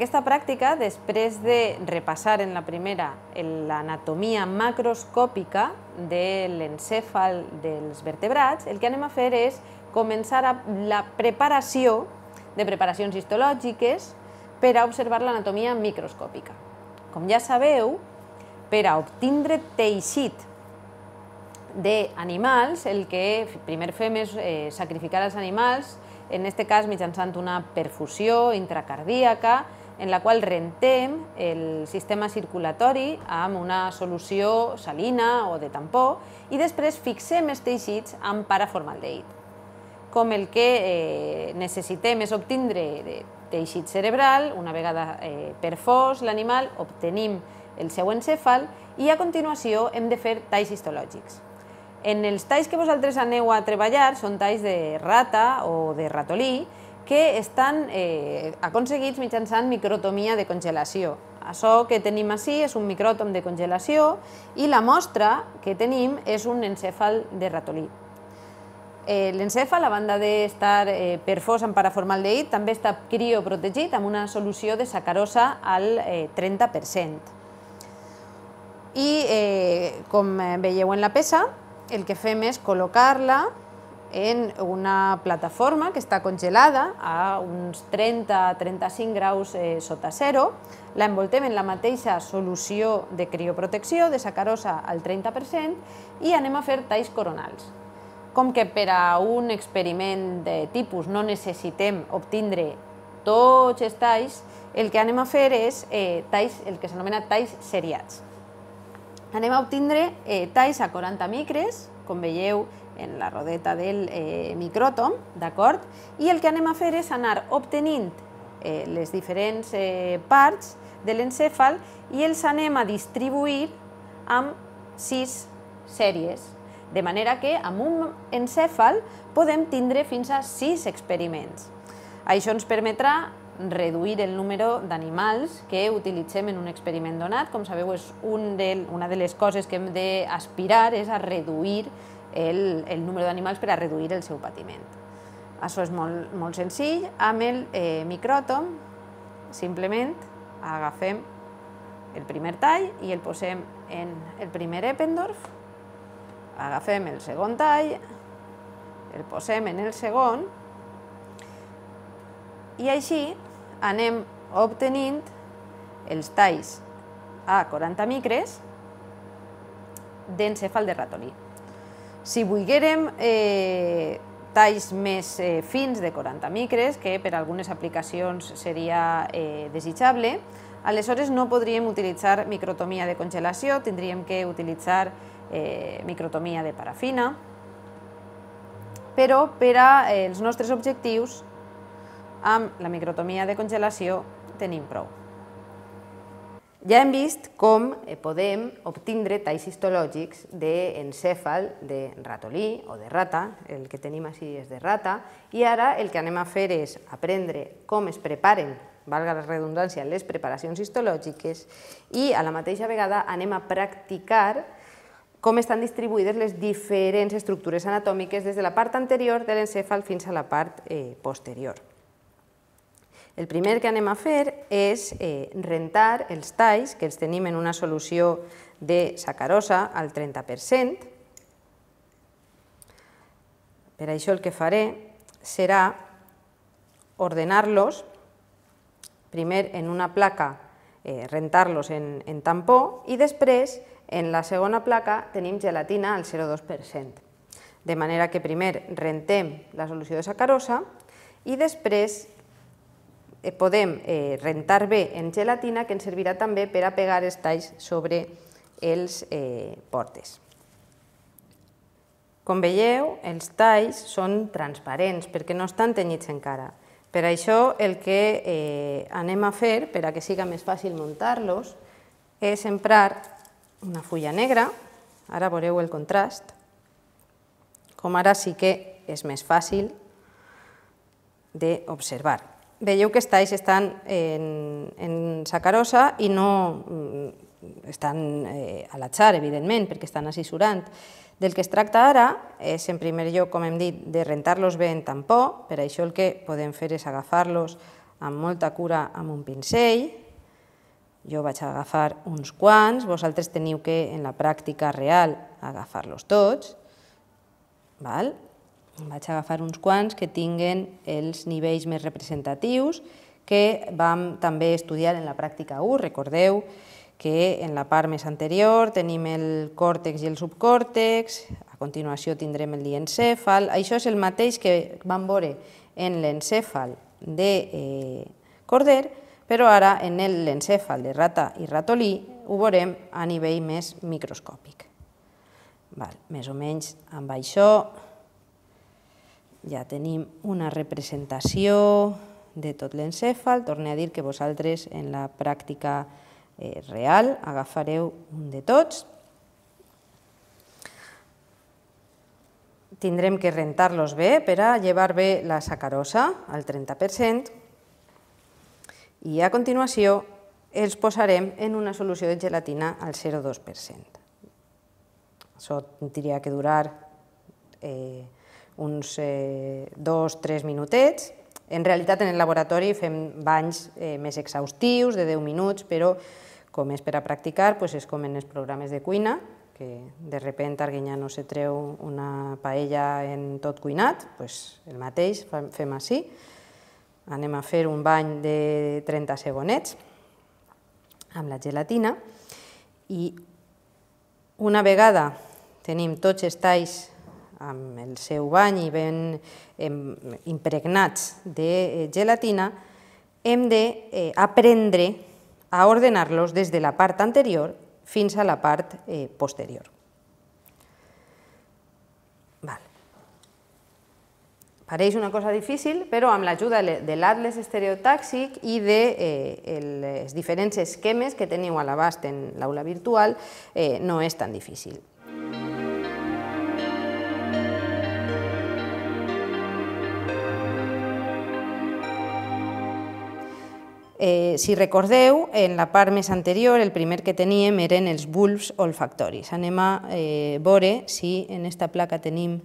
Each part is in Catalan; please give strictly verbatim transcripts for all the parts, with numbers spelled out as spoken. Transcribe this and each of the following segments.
aquesta pràctica, després de repassar en la primera l'anatomia macroscòpica de l'encèfal dels vertebrats, el que anem a fer és començar la preparació de preparacions histològiques per a observar l'anatomia microscòpica. Com ja sabeu, per a obtindre teixit d'animals, el que primer fem és sacrificar els animals, en aquest cas mitjançant una perfusió intracardíaca, en la qual rentem el sistema circulatori amb una solució salina o de tampó i després fixem els teixits amb paraformaldehid. Com el que necessitem és obtindre teixit cerebral, una vegada perfós l'animal, obtenim el seu encèfal i a continuació hem de fer talls histològics. En els talls que vosaltres aneu a treballar són talls de rata o de ratolí que estan aconseguits mitjançant microtomia de congelació. Això que tenim ací és un micròtom de congelació i la mostra que tenim és un encèfal de ratolí. L'encèfal, a banda d'estar perfós amb paraformaldehid, també està crioprotegit amb una solució de sacarosa al trenta per cent. I, com veieu en la peça, el que fem és col·locar-la en una plataforma que està congelada a uns trenta a trenta-cinc graus sota zero, l'envoltem en la mateixa solució de crioprotecció, de sacarosa al trenta per cent, i anem a fer talls coronals. Com que per a un experiment de tipus no necessitem obtindre tots els talls, el que anem a fer és talls, el que s'anomena talls seriats. Anem a obtindre talls a quaranta micres, com veieu en la rodeta del micròtom, d'acord? I el que anem a fer és anar obtenint les diferents parts de l'encèfal i els anem a distribuir amb sis sèries, de manera que amb un encèfal podem tindre fins a sis experiments. Això ens permetrà reduir el número d'animals que utilitzem en un experiment donat. Com sabeu, una de les coses que hem d'aspirar és a reduir el número d'animals per a reduir el seu patiment. Això és molt senzill. Amb el micròtom simplement agafem el primer tall i el posem en el primer Eppendorf, agafem el segon tall, el posem en el segon, i així anem obtenint els talls a quaranta micres d'encèfal de ratolí. Si volguérem talls més fins de quaranta micres, que per a algunes aplicacions seria desitjable, aleshores no podríem utilitzar microtomia de congelació, tindríem que utilitzar microtomia de parafina, però per als nostres objectius amb la microtomia de congelació tenim prou. Ja hem vist com podem obtindre talls histològics d'encèfal de ratolí o de rata, el que tenim així és de rata, i ara el que anem a fer és aprendre com es preparen, valga la redundància, les preparacions histològiques i a la mateixa vegada anem a practicar com estan distribuïdes les diferents estructures anatòmiques des de la part anterior de l'encèfal fins a la part posterior. El primer que anem a fer és rentar els talls, que els tenim en una solució de sacarosa al trenta per cent. Per això el que faré serà ordenar-los, primer en una placa, rentar-los en tampó, i després en la segona placa tenim gelatina al zero coma dos per cent. De manera que primer rentem la solució de sacarosa i després podem rentar bé en gelatina, que ens servirà també per a pegar els talls sobre els portes. Com veieu, els talls són transparents perquè no estan tenyits encara. Per això el que anem a fer, per a que siga més fàcil muntar-los, és emprar una fulla negra, ara veureu el contrast, com ara sí que és més fàcil d'observar. Veieu que els talls estan en sacarosa i no estan a l'atzar, evidentment, perquè estan assessorant. Del que es tracta ara és, en primer lloc, com hem dit, de rentar-los bé en tampó. Per això el que podem fer és agafar-los amb molta cura amb un pincell. Jo vaig agafar uns quants, vosaltres teniu que, en la pràctica real, agafar-los tots. Vaig agafar uns quants que tinguen els nivells més representatius que vam també estudiar en la pràctica u. Recordeu que en la part més anterior tenim el còrtex i el subcòrtex, a continuació tindrem el diencèfal. Això és el mateix que vam veure en l'encèfal de corder, però ara en l'encèfal de rata i ratolí ho veurem a nivell més microscòpic. Més o menys amb això ja tenim una representació de tot l'encèfal. Torno a dir que vosaltres en la pràctica real agafareu un de tots. Tindrem que rentar-los bé per a llevar bé la sacarosa al trenta per cent i a continuació els posarem en una solució de gelatina al zero coma dos per cent. Això tindria que durar uns dos o tres minutets. En realitat, en el laboratori fem banys més exhaustius, de deu minuts, però com és per a practicar, és com en els programes de cuina, que de repente Arguiñano se treu una paella en tot cuinat, doncs el mateix fem així. Anem a fer un bany de trenta segonets amb la gelatina i una vegada tenim tots els talls amb el seu bany i ben impregnats de gelatina, hem d'aprendre a ordenar-los des de la part anterior fins a la part posterior. Pareix una cosa difícil, però amb l'ajuda de l'atles estereotàxic i dels diferents esquemes que teniu a l'abast en l'aula virtual no és tan difícil. Si recordeu, en la part més anterior, el primer que teníem eren els bulbs olfactoris. Anem a veure si en aquesta placa tenim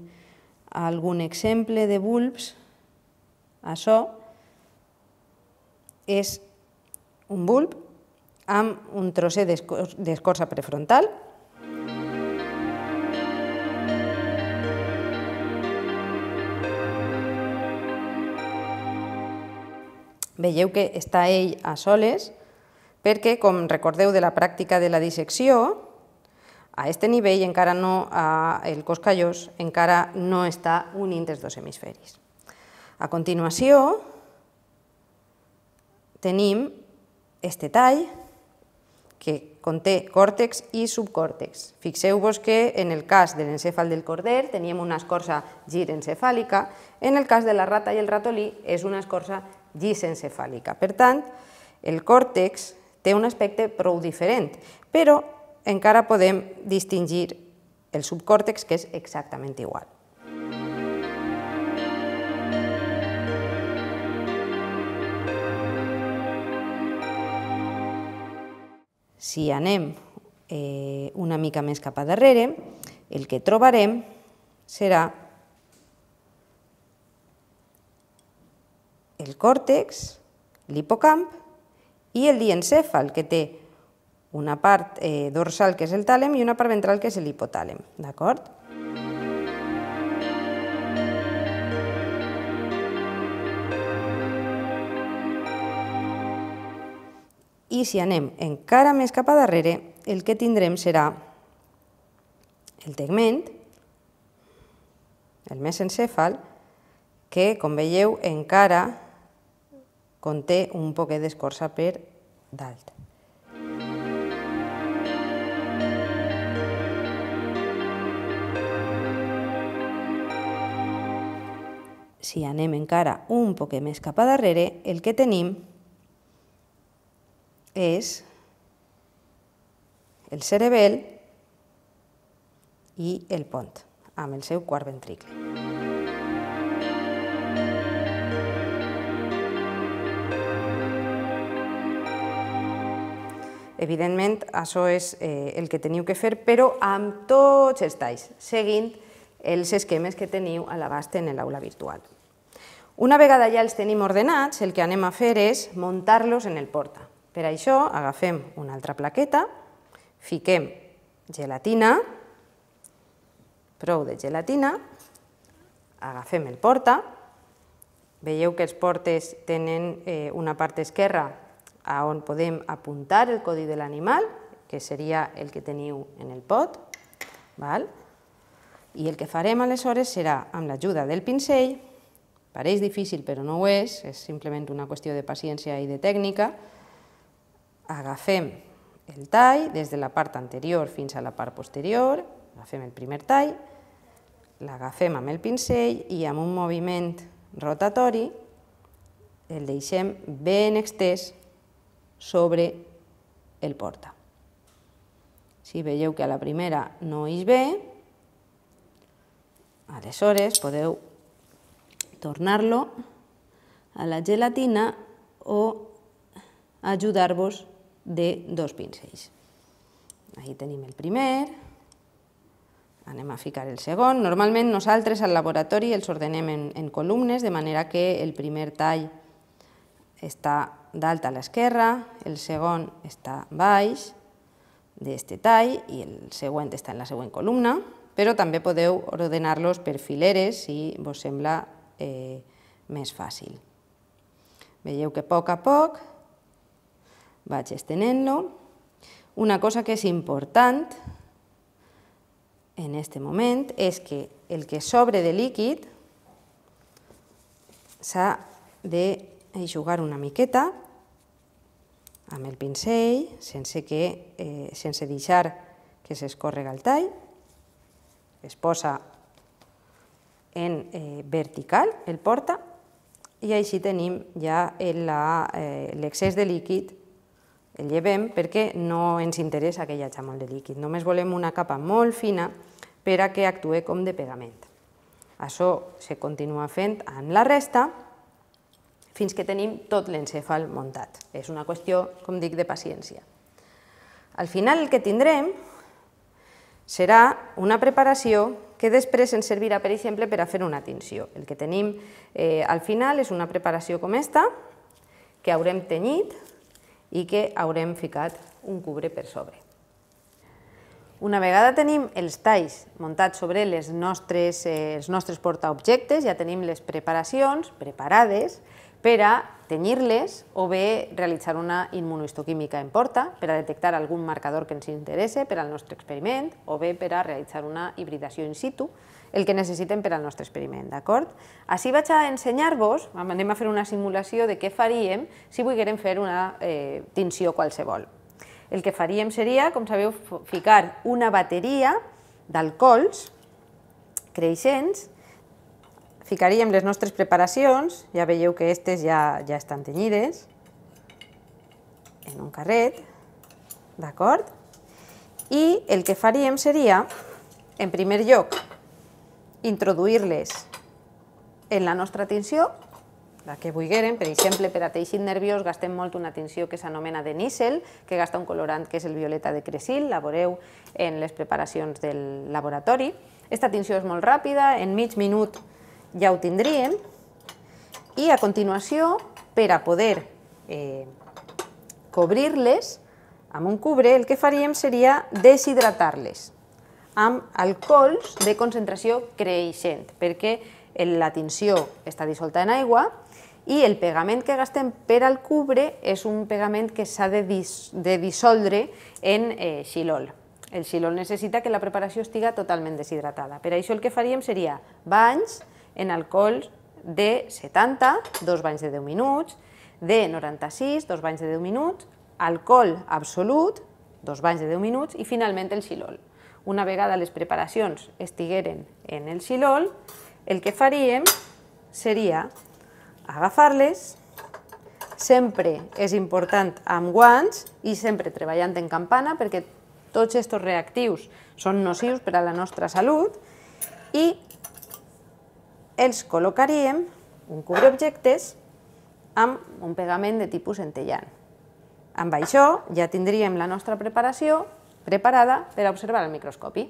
algun exemple de bulbs. Això és un bulb amb un trosset d'escorça prefrontal. Veieu que està ell a soles perquè, com recordeu de la pràctica de la dissecció, a aquest nivell encara no, el cos callós encara no està unint els dos hemisferis. A continuació tenim este tall que conté còrtex i subcòrtex. Fixeu-vos que en el cas de l'encèfal del corder teníem una escorça girencefàlica, en el cas de la rata i el ratolí és una escorça gisencefàlica. Per tant, el còrtex té un aspecte prou diferent, però encara podem distingir el subcòrtex, que és exactament igual. Si anem una mica més cap a darrere, el que trobarem serà el còrtex, l'hipocamp i el diencèfal, que té una part dorsal, que és el tàlem, i una part ventral, que és l'hipotàlem. D'acord? I si anem encara més cap a darrere, el que tindrem serà el tegment, el mesencèfal, que, com veieu, encara conté un poquet d'escorça per dalt. Si anem encara un poquet més cap a darrere, el que tenim és el cerebel i el pont, amb el seu quart ventricle. Evidentment, això és el que teniu que fer, però amb tots els talls, seguint els esquemes que teniu a l'abast en l'aula virtual. Una vegada ja els tenim ordenats, el que anem a fer és muntar-los en el porta. Per això agafem una altra plaqueta, fiquem gelatina, prou de gelatina, agafem el porta, veieu que els portes tenen una part esquerra on podem apuntar el codi de l'animal, que seria el que teniu en el pot, i el que farem aleshores serà, amb l'ajuda del pinzell, pareix difícil però no ho és, és simplement una qüestió de paciència i de tècnica, agafem el tall des de la part anterior fins a la part posterior, agafem el primer tall, l'agafem amb el pinzell i amb un moviment rotatori el deixem ben extès sobre el porta. Si veieu que a la primera no ix bé, aleshores podeu tornar-lo a la gelatina o ajudar-vos de dos pinzells. Aquí tenim el primer, anem a ficar el segon. Normalment nosaltres al laboratori els ordenem en columnes, de manera que el primer tall està dalt a l'esquerra, el segon està baix d'aquest tall i el següent està en la següent columna, però també podeu ordenar-los per fileres si vos sembla més fàcil. Veieu que a poc a poc vaig estenent-lo. Una cosa que és important en aquest moment és que el que sobre de líquid s'ha d'eixugar una miqueta amb el pinzell, sense deixar que s'escórrega el tall. Es posa en vertical el porta i així tenim ja l'excés de líquid, el llevem perquè no ens interessa que hi hagi molt de líquid, només volem una capa molt fina per a que actuï com de pegament. Això se continua fent amb la resta fins que tenim tot l'encèfal muntat. És una qüestió, com dic, de paciència. Al final el que tindrem serà una preparació que després ens servirà, per exemple, per a fer una tinció. El que tenim al final és una preparació com aquesta, que haurem tenyit i que haurem ficat un cubre per sobre. Una vegada tenim els talls muntats sobre els nostres portaobjectes, ja tenim les preparacions preparades per a tenyir-les o bé realitzar una immunohistoquímica en porta per a detectar algun marcador que ens interessa per al nostre experiment o bé per a realitzar una hibridació in situ, el que necessitem per al nostre experiment, d'acord? Així vaig a ensenyar-vos, anem a fer una simulació de què faríem si volguérem fer una tinció qualsevol. El que faríem seria, com sabeu, ficar una bateria d'alcohols creixents, ficaríem les nostres preparacions, ja veieu que aquestes ja estan tenyides, en un carret, d'acord? I el que faríem seria, en primer lloc, introduir-les en la nostra tinció, la que vulguérem. Per exemple, per a teixit nerviós gastem molt una tinció que s'anomena de nísel, que gasta un colorant que és el violeta de cresil, la veureu en les preparacions del laboratori. Aquesta tinció és molt ràpida, en mig minut ja ho tindríem, i a continuació, per a poder cobrir-les amb un cubre, el que faríem seria deshidratar-les amb alcohols de concentració creixent, perquè la tinció està dissolta en aigua i el pegament que gastem per al cubre és un pegament que s'ha de dissoldre en xilol. El xilol necessita que la preparació estiga totalment deshidratada. Per això el que faríem seria banys en alcohols de setanta, dos banys de deu minuts, de noranta-sis, dos banys de deu minuts, alcohol absolut, dos banys de deu minuts i finalment el xilol. Una vegada les preparacions estigueren en el xilol, el que faríem seria agafar-les, sempre és important amb guants i sempre treballant en campana perquè tots aquests reactius són nocius per a la nostra salut i els col·locaríem un cubreobjectes amb un pegament de tipus centellant. Amb això ja tindríem la nostra preparació preparada per a observar al microscopi.